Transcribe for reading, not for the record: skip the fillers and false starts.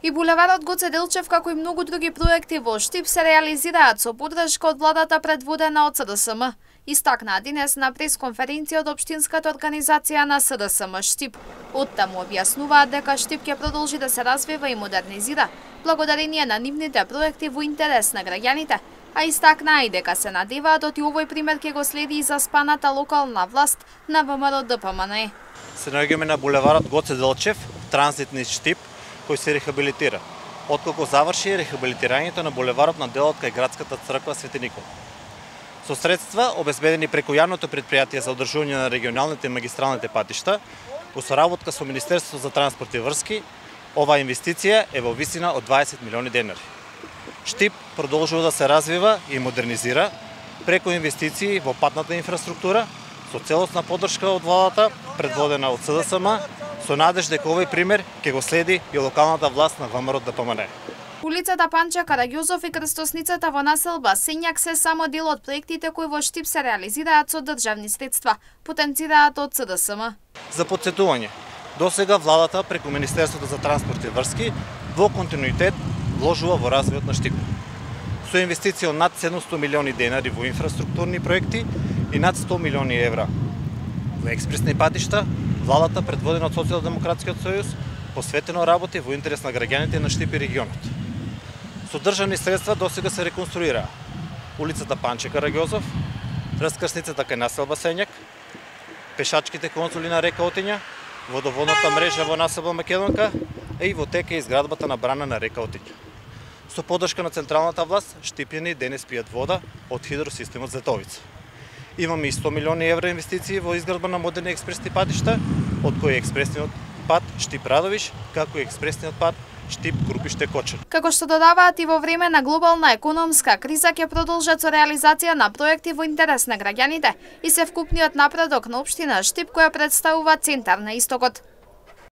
И булеварот Гоце Делчев, како и многу други проекти во Штип, се реализираат со поддршка од владата предводена од СДСМ. Истакнаа денес на пресконференција од општинската организација на СДСМ Штип. Оттаму објаснуваат дека Штип ќе продолжи да се развива и модернизира, благодарение на нивните проекти во интерес на граѓаните, а истакнаа и дека се надеваат од овој пример ќе го следи и заспаната локална власт на ВМРО ДПМН. Се наоѓаме на булеварот Гоце Делчев, транзитни Штип, кој се рехабилитира. Откако заврши рехабилитирањето на булеварот на делот кај градската црква Свети Никола. Со средства обезбедени преку јавното предпријатие за одржување на регионалните и магистралните патишта, во соработка со Министерството за транспорт и врски, оваа инвестиција е во висина од 20 милиони денари. Штип продолжува да се развива и модернизира преку инвестиции во патната инфраструктура, со целосна поддршка од владата, предводена од СДСМ, со надеж дека овој пример ќе го следи и локалната власт на ВМРО ДПМН. Улицата Панче Караѓозов и крстосницата во населба Сењак се само дел од проектите кои во Штип се реализираат со државни средства, потенцираат од СДСМ. За потсетување, досега владата преку Министерството за транспорт и врски во континуитет вложува во развојот на Штип. Со инвестиција од над 700 милиони денари во инфраструктурни проекти и над 100 милиони евра во експресни патишта, владата предводена од Социјалдемократскиот сојуз посветено работи во интерес на граѓаните на Штип и регионот. Со државни средства досега се реконструира улицата Панче Караѓозов, раскрсницата кај населба Сењак, пешачките конзули на река Отиња, водоводната мрежа во населба Македонка и во тека изградбата на брана на река Отиња. Со поддршка на централната власт, штипјани денес пијат вода од хидросистемот Зетовица. Имаме и 100 милиони евра инвестиции во изградба на модерни експресни патишта, од кои експресниот пат Штип-Радовиш, како и експресниот пат Штип-Крупиште-Кочани. Како што додаваат и во време на глобална економска криза ќе продолжат со реализација на проекти во интерес на граѓаните и се вкупниот напредок на општина Штип која представува центар на истокот.